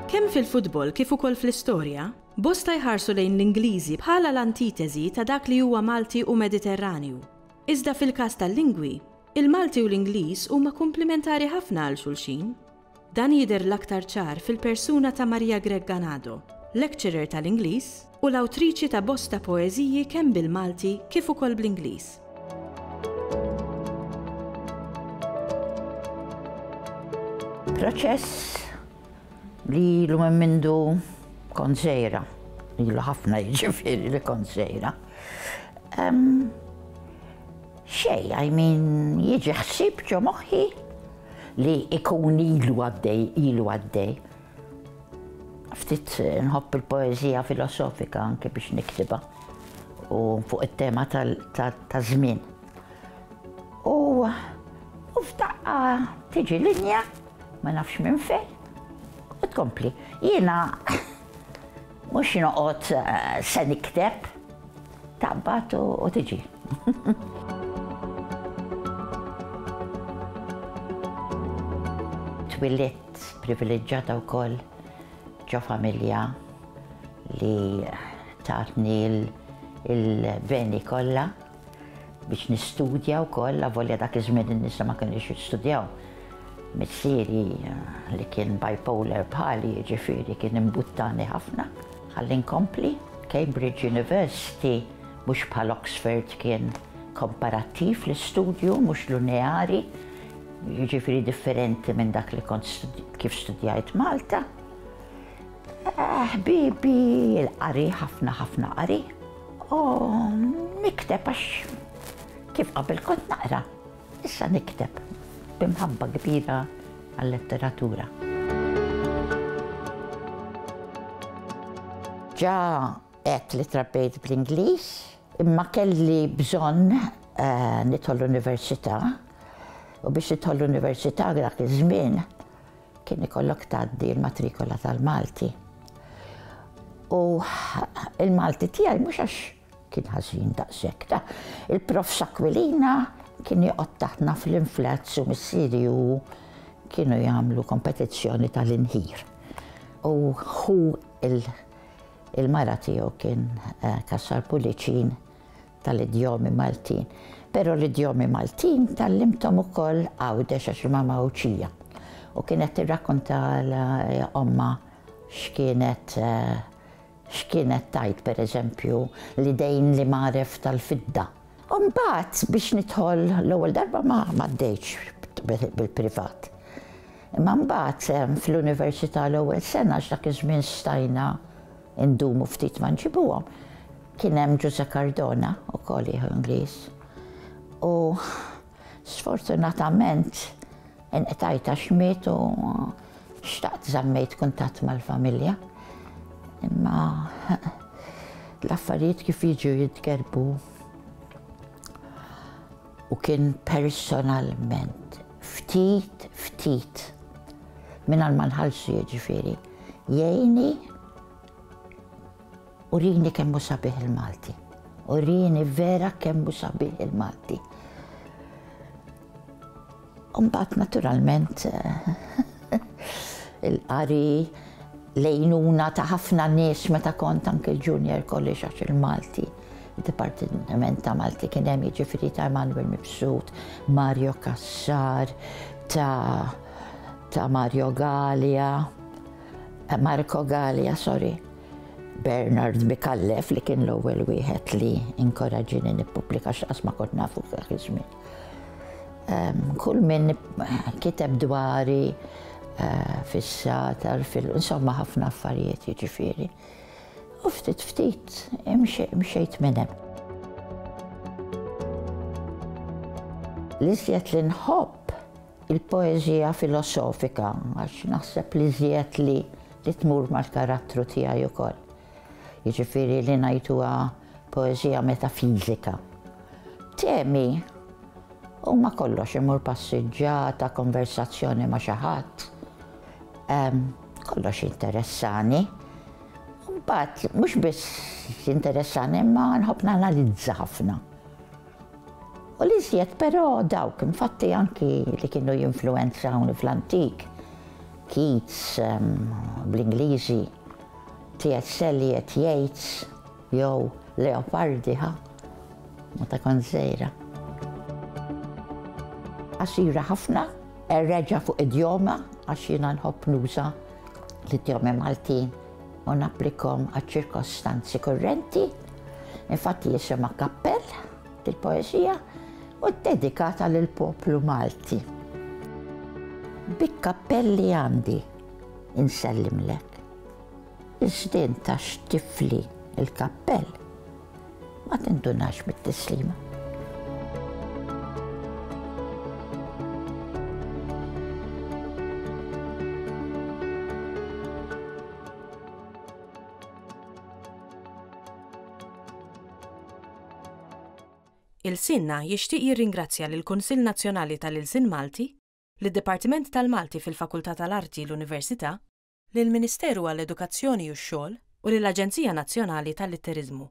Kemm fil-futbol kif ukoll fl-istorja, bosta jħarsu lejn l-Ingliżi bħala l-antiteżi ta' dak li huwa Malti u Mediterranju. Iżda fil-każ tal-lingwi, il-Malti u l-Ingliż huma kumplimentari ħafna għal xulxin. Dan jidher l-aktar ċar fil-persuna ta' Maria Grech Ganado, lecturer tal-Ingliż u l-awtriċi ta' bosta poeżiji kemm bil-Malti kif ukoll bl-Ingliż. Proċess li ilu minn mindu kont żgħira, ilu ħafna jiġifieri li kont żgħira. Xejn, I mean, jiġi ħsieb ġo moħħi li ikun ilu għaddej, ilu għaddej. Ftit nħobb il-poeżija filosofika anke biex niktibha u fuq it-tema ta' żmien. U u f'daqqa tiġi linja, ma nafx minn fejn, u tkompli. Jiena mhux noqgħod eh, se nikteb, taqbad u tiġi. Twilidt privileġġjata wkoll ġo familja li tatni il-beni kollha biex nistudja wkoll, avolja dak iż-żmien in-nisa ma kinux jistudjaw. Missieri li kien bipolar bħali, jiġifieri kien imbuttani ħafna. Ħalli nkompli. Cambridge University mhux bħal Oxford kien komparattiv l-istudju, mhux lineari, jiġifieri differenti minn dak li kont kif studjajt Malta. Ħbibi, il-qari, ħafna ħafna qari. U nikteb għax kif qabel kont naqra, issa nikteb b'imħabba kbira għal-letteratura. Ġa għedt li trabbejt bl-Ingliż, imma kelli bżonn eh, nidħol l-università u biex tidħol l-università dak iż-żmien kien ikollok tgħaddi l-matrikola tal-Malti. U il-Malti tiegħi mhux għax kien ħażin daqshekk ta' il-prof Aquilina kien joqgħod taħtna fl-inflazz u missieri u kienu jagħmlu kompetizzjoni tal-inħir. U hu il-mara tiegħu kien eh, Cassar Pullicin tal-idjomi Maltin. Però l-idjomi Maltin tgħallimthom ukoll Għawdex għax mama Għawdxija. U kienet tirrakkonta ommha x'kienet eh, x'kienet tgħid pereżempju l-idejn li magħref tal-fidda. U mbagħad biex nidħol l-ewwel darba ma m'għaddejtx bil-privat. Imma mbagħad eh, fl-università l-ewwel sena għax dak iż-żmien stajna ndumu ftit ma nġibuhom. Kien hemm Ġuże Cardona ukoll jieħu Ingliż. U sfortunatament inqtajt għax miet u xtaqt żammejt kuntatt mal-familja. Imma l-affarijiet kif jiġu jitgerbu u kien personalment ftit ftit mingħajr ma nħallsu jiġifieri jgħinni urini kemm hu sabiħ il-Malti. Urini vera kemm hu sabiħ il-Malti. Mbagħad naturalment il-qari l-għajnuna ta' ħafna nies meta kont anke l-Junior College għax il-Malti. Il-Dipartiment ta' Malti kien hemm jiġifieri ta' Emanuel Mifsud, Mario Cassar, ta' ta' Mario Galea, Marco Galea, sorry. Bernard Micallef li kien l-ewwel wieħed li inkoraġini nippubblika x'qas ma kont nafu dak iż-żmien. Kull min kiteb dwari eh, fis-satar, fil insomma ħafna affarijiet jiġifieri. U ftit ftit imxejt minn hemm. L-iżjed li nħobb il-poeżija filosofika għax naħseb li iżjed li li tmur mal-karattru tiegħi ukoll. Jiġifieri li ngħiduha poeżija metafiżika. Temi huma kollox imur passiġġata, konversazzjoni ma' xi ħadd. Kollox interessani. Mbagħad mhux biss jinteressani imma nħobb nanalizza ħafna. U l-iżjed però dawk, infatti anki li kienu jinfluwenzawni fl-antik, Keats bl-Ingliżi, T.S. Eliot, Yeats, jew Leopardi, ha? Meta kont żgħira. Qasira ħafna, reġa' fuq idjoma għax jiena nħobb nuża l-idjomi Maltin u napplikhom għaċ-ċirkostanzi kurrenti. Infatti jisimha Kappell il-poeżija u ddedikata lill-poplu Malti. Bik-kappell li għandi insellimlek. Iżda int għax tifli l-kappell ma tindunax bit-tislima. Ilsienna jixtieq jirringrazzja lill-Kunsill Nazzjonali tal-Ilsien Malti, lid-Dipartiment tal-Malti fil-Fakultà tal-Arti, l-Università, lill-Ministeru għall-Edukazzjoni u x-Xogħol u lill-Aġenzija Nazzjonali tal-Litteriżmu.